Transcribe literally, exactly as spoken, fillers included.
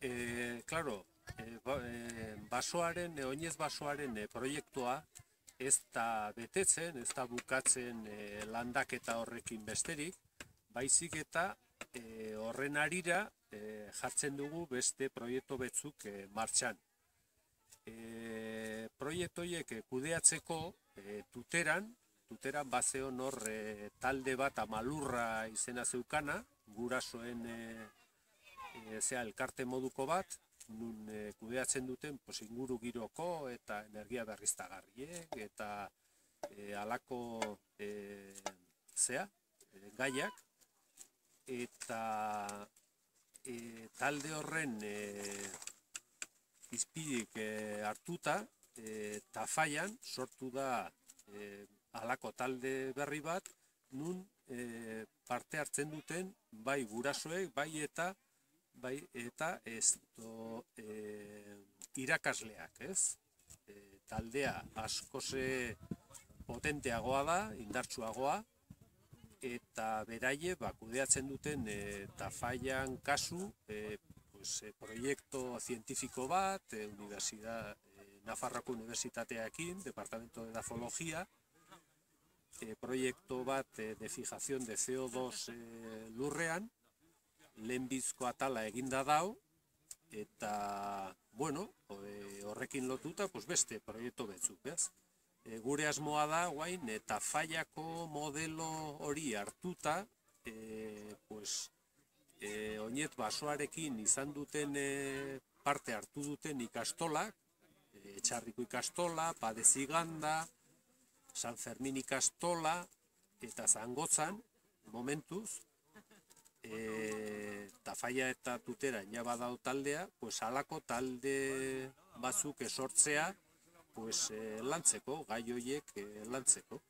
E, claro, e, ba, e, basoaren, e, oinez basoaren e, proiektua ez da betetzen, ez da bukatzen e, landaketa horrekin besterik, baizik eta e, horren arira e, jartzen dugu beste proiektu betzuk e, martxan. E, proiektu horiek e, kudeatzeko e, tuteran, tuteran bazeon hor e, talde bat amalurra izena zeukana, gurasoen e, e, zea, elkarte moduko bat, nun e, kudeatzen duten pues, inguru giroko eta energia berriztagarriek eta e, alako e, zea, e, gaiak, eta e, talde horren e, izpidik e, hartuta, e, Tafallan sortu da e, alako talde berri bat, nun e, parte hartzen duten bai gurasoek, bai eta bai eta esto e, irakasleak, ez? E, taldea askoze potenteagoa da, indartsuagoa, eta beraie ba, kudeatzen duten e, Tafallan kasu e, pues, e, proiektu zientifiko bat, e, universidad, e, Nafarroko Unibertsitatearekin, Departamento de Edafologia, e, proiektu bat e, de fijación de C O dos e, lurrean, lehenbizko atala eginda dau, eta, bueno, horrekin lotuta, pues beste proiektu betzuk, ez? E, gure asmoa da, guain, eta Tafallako modelo hori hartuta, e, pues, e, oinez basoarekin izan duten e, parte hartu duten ikastolak, e, Etxarriko ikastola, Padeziganda, San Fermin ikastola, eta Zangotzan, momentuz, e, Tafalla eta Tutera ina badau taldea, pues halako talde batzuk esortzea pues, e, lantzeko, gai horiek e, lantzeko.